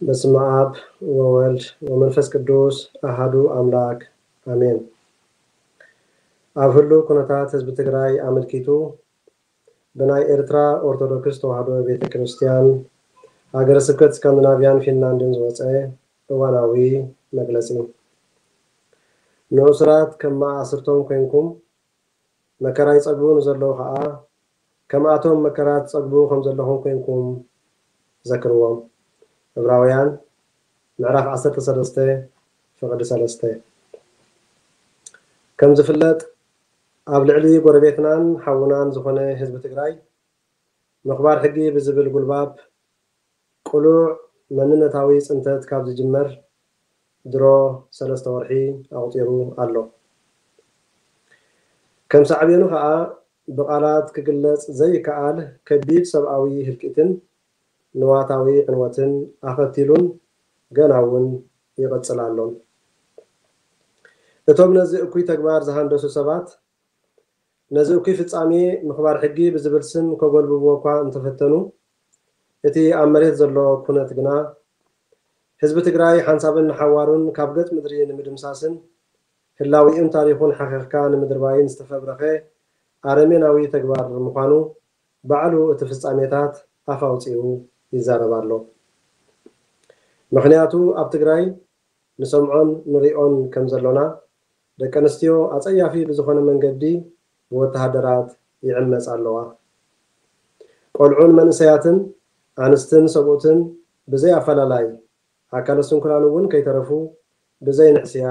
በስመ ኣብ ወወልድ ወመንፈስ ቅዱስ ኣሃዱ ኣምላክ ኣሜን። ኣብ ህሉው ኩነታት ህዝቢ ትግራይ ኣመልኪቱ ብናይ ኤርትራ ኦርቶዶክስ ተዋህዶ ቤተ ክርስቲያን ሃገረ ስብከት ስካንዲናቪያን ፊንላንድን ዝወፀ እዋናዊ መግለፂ። ንእሱራት ከም መኣስርቶም ኮይንኩም መከራ ይጸግቡ ንዘለዉ ኸኣ፣ ከምኣቶም መከራ ትጸግቡ ከም ዘለኹም ኮይንኩም ዘክርዎም። ዕብራውያን ምዕራፍ ዓሰርተ ሰለስተ ፍቕዲ ሰለስተ። ከም ዝፍለጥ፣ ኣብ ልዕሊ ጎረቤትናን ሓውናን ዝኾነ ህዝቢ ትግራይ፣ ምኽባር ሕጊ ብዝብል ጉልባብ ቅሉዕ መንነታዊ ጽንተት ካብ ዝጅመር ድሮ ሰለስተ ወርሒ ኣቑጺሩ ኣሎ። ከም ሳዕቤኑ ኸኣ ብቓላት ክግለጽ ዘይከኣል ከቢድ ሰብኣዊ ህልቂትን ንዋታዊ ዕንወትን ኣኸቲሉን ገና እውን ይቕጽል ኣሎን። እቶም ነዚ እኩይ ተግባር ዝሃንደሱ ሰባት ነዚ እኩይ ፍጻሜ ምኽባር ሕጊ ብዝብል ስም ከጎልብብዎ እኳ እንተፈተኑ፣ እቲ ኣብ መሬት ዘሎ ኩነት ግና ህዝቢ ትግራይ ሓንሳብን ንሓዋሩን ካብ ገጽ ምድሪ ንምድምሳስን ህላዊኡን ታሪኹን ሓኺኽካ ንምድርባይን ዝተፈብረኸ ኣረሜናዊ ተግባር ምዃኑ ባዕሉ እቲ ፍጻሜታት ኣፍ ኣውጺኡ ይዛረብ ኣሎ። ምኽንያቱ ኣብ ትግራይ ንሰምዖን ንሪኦን ከም ዘሎና ደቂ ኣንስትዮ ኣጸያፊ ብዝኾነ መንገዲ ብወተሃደራት ይዕመጻ ኣለዋ። ቆልዑን መንእሰያትን ኣንስትን ሰብኡትን ብዘይ ኣፈላላይ ኣካለ ስንኩላን እውን ከይተረፉ ብዘይ ንሕስያ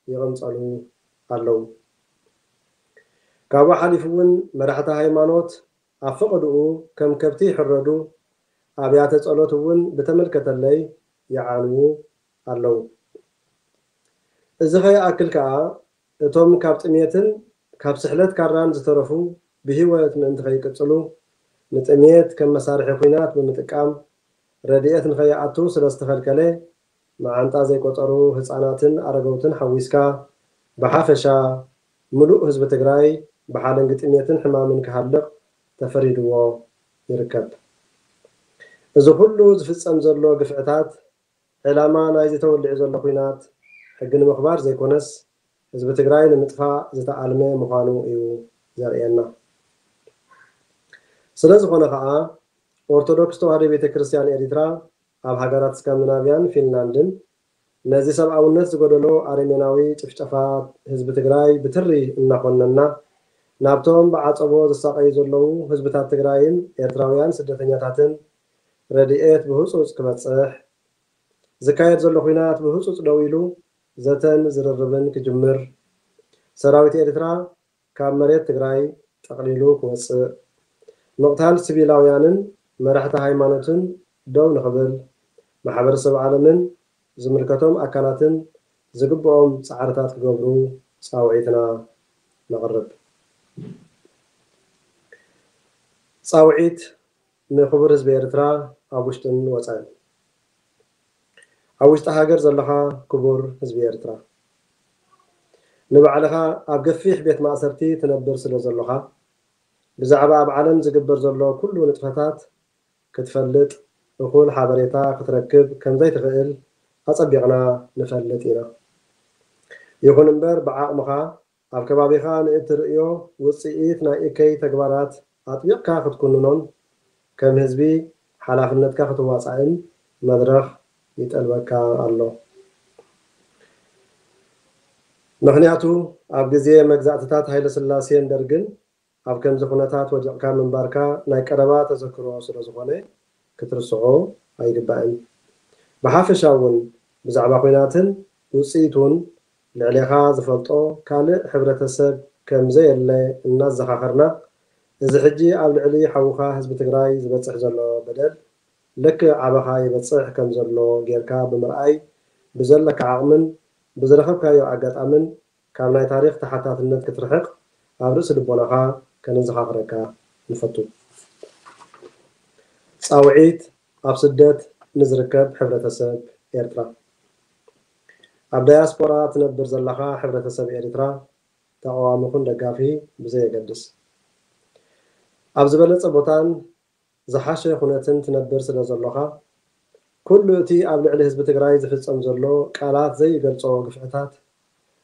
ይቕንጸሉ ኣለዉ። ካብኡ ሓሊፉ እውን መራሕቲ ሃይማኖት ኣብ ፈቐድኡ ከም ከብቲ ይሕረዱ፣ ኣብያተ ጸሎት እውን ብተመልከተለይ ይዓንዉ ኣለዉ። እዚ ከይኣክል ከኣ እቶም ካብ ጥሜትን ካብ ስሕለት ካራን ዝተረፉ ብህይወት ምእንቲ ከይቅጽሉ ንጥሜት ከም መሳርሒ ኲናት ብምጥቃም ረድኤት ንኸይኣቱ ስለ ዝተኸልከለ መዓንጣ ዘይቆጸሩ ህጻናትን ኣረገውትን ሓዊስካ ብሓፈሻ ምሉእ ህዝቢ ትግራይ ብሓለንጊ ጥሜትን ሕማምን ክሃልቕ ተፈሪድዎ ይርከብ። እዚ ኩሉ ዝፍጸም ዘሎ ግፍዕታት ዕላማ ናይዚ ተወሊዑ ዘሎ ኲናት ሕጊ ንምኽባር ዘይኮነስ ህዝቢ ትግራይ ንምጥፋእ ዝተኣልመ ምዃኑ እዩ ዘርእየና። ስለ ዝኾነ ኸኣ ኦርቶዶክስ ተዋህዶ ቤተ ክርስቲያን ኤሪትራ ኣብ ሃገራት ስካንዲናቪያን ፊንላንድን ነዚ ሰብኣውነት ዝጎደሎ ኣረሜናዊ ጭፍጨፋ ህዝቢ ትግራይ ብትሪ እናኾነና ናብቶም ብዓጸቦ ዝሳቐዩ ዘለዉ ህዝብታት ትግራይን ኤርትራውያን ስደተኛታትን ረድኤት ብህጹጽ ክበጽሕ ዝካየድ ዘሎ ኲናት ብህጹጽ ደው ኢሉ ዘተን ዝርርብን ክጅምር፣ ሰራዊት ኤርትራ ካብ መሬት ትግራይ ጠቕሊሉ ክወጽእ፣ ምቕታል ሲቪላውያንን መራሕቲ ሃይማኖትን ደው ንኽብል፣ ማሕበረሰብ ዓለምን ዝምልከቶም ኣካላትን ዝግብኦም ጻዕርታት ክገብሩ ጻውዒትና ነቕርብ። ጻውዒት ንክቡር ህዝቢ ኤርትራ ኣብ ውሽጥን ወጻእን። ኣብ ውሽጢ ሃገር ዘለኻ ክቡር ህዝቢ ኤርትራ፣ ንባዕልኻ ኣብ ገፊሕ ቤት ማእሰርቲ ትነብር ስለ ዘሎኻ፣ ብዛዕባ ኣብ ዓለም ዝግበር ዘሎ ኩሉ ንጥፈታት ክትፈልጥ፣ እኹል ሓበሬታ ክትረክብ ከም ዘይትኽእል ኣጸቢቕና ንፈልጥ ኢና። ይኹን እምበር፣ ብዓቕምኻ ኣብ ከባቢኻ ንእትርእዮ ውጽኢት ናይ እከይ ተግባራት ኣጥቢቕካ ክትኩንኖን ከም ህዝቢ ሓላፍነትካ ክትዋጻእን መድረኽ ይጠልበካ ኣሎ። ምኽንያቱ ኣብ ግዜ መግዛእትታት ሃይለስላሴን ደርግን ኣብ ከምዚ ኩነታት ወዲቕካ ምንባርካ ናይ ቀረባ ተዘክሮ ስለ ዝኾነ ክትርስዖ ኣይግባእን። ብሓፈሻ እውን ብዛዕባ ኲናትን ውጽኢቱን ልዕሌኻ ዝፈልጦ ካልእ ሕብረተሰብ ከም ዘየለ እናዘኻኸርና፣ እዚ ሕጂ ኣብ ልዕሊ ሓውኻ ህዝቢ ትግራይ ዝበጽሕ ዘሎ በደል ልክዕ ኣባኻ ይበጽሕ ከም ዘሎ ጌርካ ብምርኣይ ብዘለካ ዓቕምን ብዝረኸብካዮ ኣጋጣምን ካብ ናይ ታሪኽ ተሓታትነት ክትርሕቕ ኣብ ርእሲ ልቦናኻ ከነዘኻኽረካ ንፈቱ። ጻውዒት ኣብ ስደት ንዝርከብ ሕብረተሰብ ኤርትራ። ኣብ ዳያስፖራ ትነብር ዘለኻ ሕብረተሰብ ኤርትራ፣ ተቓዋሚ ኩን ደጋፊ ብዘየገድስ፣ ኣብ ዝበለጸ ቦታን ዝሓሸ ኩነትን ትነብር ስለ ዘሎኻ፣ ኩሉ እቲ ኣብ ልዕሊ ህዝቢ ትግራይ ዝፍጸም ዘሎ ቃላት ዘይገልጾ ግፍዕታት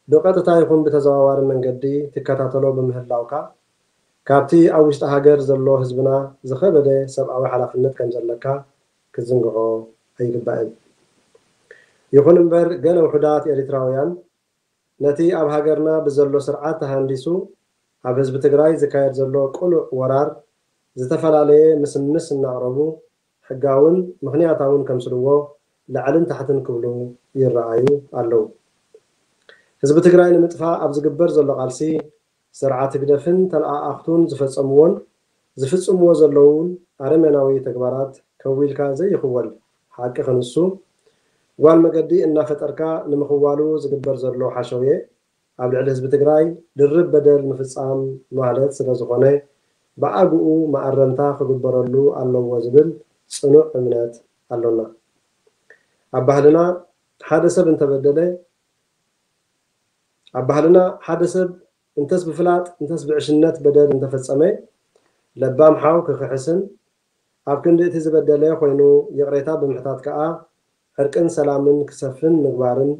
ብቐጥታ ይኹን ብተዘዋዋሪ መንገዲ ትከታተሎ ብምህላውካ፣ ካብቲ ኣብ ውሽጢ ሃገር ዘሎ ህዝብና ዝኸበደ ሰብኣዊ ሓላፍነት ከም ዘለካ ክትዝንግዖ ኣይግባእን። ይኹን እምበር፣ ገለ ውሑዳት ኤሪትራውያን ነቲ ኣብ ሃገርና ብዘሎ ስርዓት ተሃንዲሱ ኣብ ህዝቢ ትግራይ ዝካየድ ዘሎ ቅሉዕ ወራር ዝተፈላለየ ምስምስ እናቕረቡ ሕጋውን ምኽንያታውን ከምስልዎ ላዕልን ታሕትን ክብሉ ይረኣዩ ኣለዉ። ህዝቢ ትግራይ ንምጥፋእ ኣብ ዝግበር ዘሎ ቃልሲ ስርዓት ህግደፍን ተለኣኣኽቱን ዝፈጸምዎን ዝፍጽምዎ ዘለውን ኣረሜናዊ ተግባራት ከዊልካ ዘይኽወል ሓቂ ክንሱ፣ ጓል መገዲ እናፈጠርካ ንምኽዋሉ ዝግበር ዘሎ ሓሸውየ ኣብ ልዕሊ ህዝቢ ትግራይ ድርብ በደል ምፍጻም ማለት ስለ ዝኾነ፣ ብኣግኡ መኣረምታ ክግበረሉ ኣለዎ ዝብል ጽኑዕ እምነት ኣሎና። ኣብ ባህልና ሓደ ሰብ እንተበደለ፣ ኣብ ባህልና ሓደ ሰብ እንተስ ብፍላጥ እንተስ ብዕሽነት በደል እንተፈጸመ፣ ለባም ሓው ክኽሕስን ኣብ ክንዲ እቲ ዝበደለ ኮይኑ ይቕሬታ ብምሕታት ከኣ ዕርቅን ሰላምን ክሰፍን ምግባርን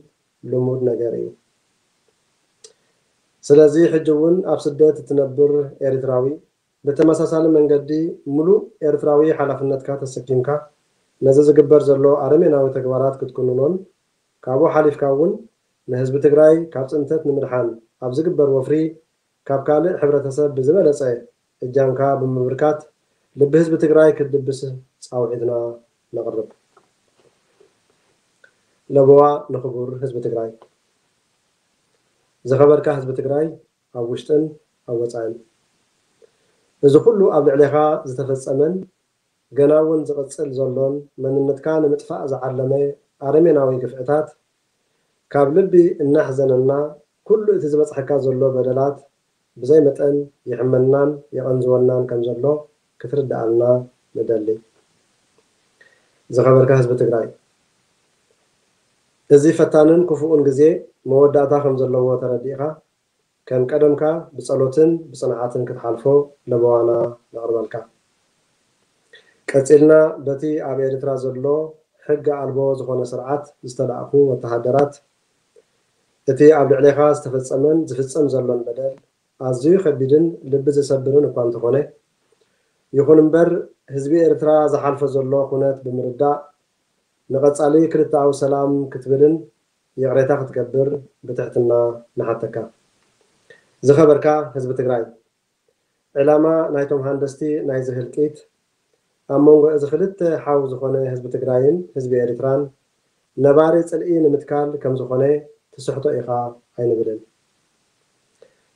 ልሙድ ነገር እዩ። ስለዚ ሕጂ እውን ኣብ ስደት እትነብር ኤርትራዊ ብተመሳሳሊ መንገዲ ምሉእ ኤርትራዊ ሓላፍነትካ ተሰኪምካ ነዚ ዝግበር ዘሎ ኣረሜናዊ ተግባራት ክትኩንኖን ካብኡ ሓሊፍካ እውን ንህዝቢ ትግራይ ካብ ጽንተት ንምድሓን ኣብ ዝግበር ወፍሪ ካብ ካልእ ሕብረተሰብ ብዝበለጸ እጃምካ ብምብርካት ልቢ ህዝቢ ትግራይ ክትድብስ ጻውዒትና ነቕርብ። ለበዋ ንኽቡር ህዝቢ ትግራይ። ዝኸበርካ ህዝቢ ትግራይ ኣብ ውሽጥን ኣብ ወጻእን፣ እዚ ኩሉ ኣብ ልዕሌኻ ዝተፈጸመን ገና እውን ዝቕጽል ዘሎን መንነትካ ንምጥፋእ ዝዓለመ ኣረሜናዊ ግፍዕታት ካብ ልቢ እናሕዘነና፣ ኩሉ እቲ ዝበጽሐካ ዘሎ በደላት ብዘይ መጠን ይሕመናን የቐንዝወናን ከም ዘሎ ክትርድኣልና ንደሊ። ዝኸበርካ ህዝቢ ትግራይ፣ እዚ ፈታንን ክፉእን ግዜ መወዳእታ ከም ዘለዎ ተረዲእኻ፣ ከም ቀደምካ ብጸሎትን ብጽንዓትን ክትሓልፎ ለበዋና ነቕርበልካ። ቀጺልና በቲ ኣብ ኤርትራ ዘሎ ሕገ ኣልቦ ዝኾነ ስርዓት ዝተላእኩ ወተሃደራት፣ እቲ ኣብ ልዕሌኻ ዝተፈጸመን ዝፍጸም ዘሎን በደል ኣዝዩ ከቢድን ልቢ ዝሰብርን እኳ እንተኾነ፣ ይኹን እምበር ህዝቢ ኤርትራ ዝሓልፎ ዘሎ ኩነት ብምርዳእ፣ ንቐጻሊ ክልተኣዊ ሰላም ክትብልን ይቕሬታ ክትገብር ብትሕትና ንሓተካ። ዝኸበርካ ህዝቢ ትግራይ፣ ዕላማ ናይቶም ሃንደስቲ ናይዚ ህልቂት ኣብ መንጎ እዚ ክልተ ሓው ዝኾነ ህዝቢ ትግራይን ህዝቢ ኤርትራን ነባሪ ጽልኢ ንምትካል ከም ዝኾነ ትስሕቶ ኢኻ ኣይንብልን።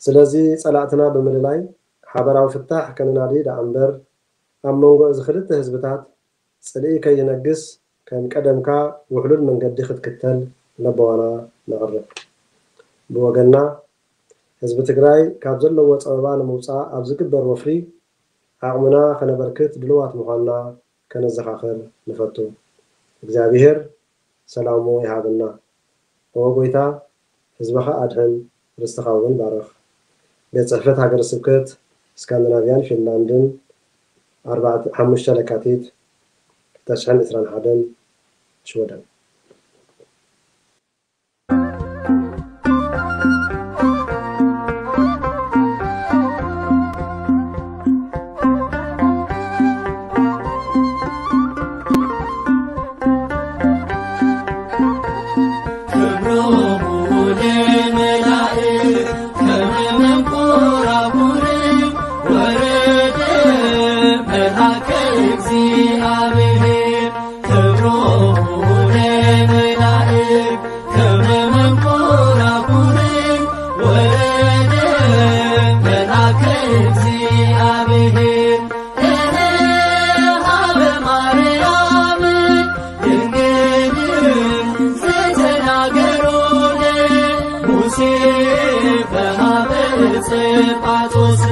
ስለዚ ጸላእትና ብምልላይ ሓበራዊ ፍታሕ ከነናዲ ደኣ እምበር ኣብ መንጎ እዚ ክልተ ህዝብታት ጽልኢ ከይነግስ ከም ቀደምካ ውሕሉል መንገዲ ክትክተል ለበዋና ነቕርብ። ብወገንና ህዝቢ ትግራይ ካብ ዘለዎ ጸበባ ንምውጻእ ኣብ ዝግበር ወፍሪ ዓቕምና ከነበርክት ድልዋት ምዃንና ከነዘኻኽር ንፈቱ። እግዚኣብሔር ሰላሙ ይሃበና። ኦ ጎይታ፣ ህዝብኻ ኣድሕን፣ ርስትኻ እውን ባርኽ። ቤት ጽሕፈት ሃገረ ስብከት ስካንዲናቭያን ፊንላንድን፣ ኣርባዕተ ሓሙሽተ ለካቲት ክልተ ሽሕን ዕስራን ሓደን፣ ሽወደን። ክብሮሙ ለመላእክት ከመ መንኮራኩር ወረደ መልአከ እግዚአብሔር። ክብሮሙ ለመላእክት ከመ መንኮራኩር ወረደ መልአከ እግዚአብሔር። እነሆ ሀበ ማርያም ድንግል ዘተናገሮ ለሙሴ በሀበ ጸጳጦስ።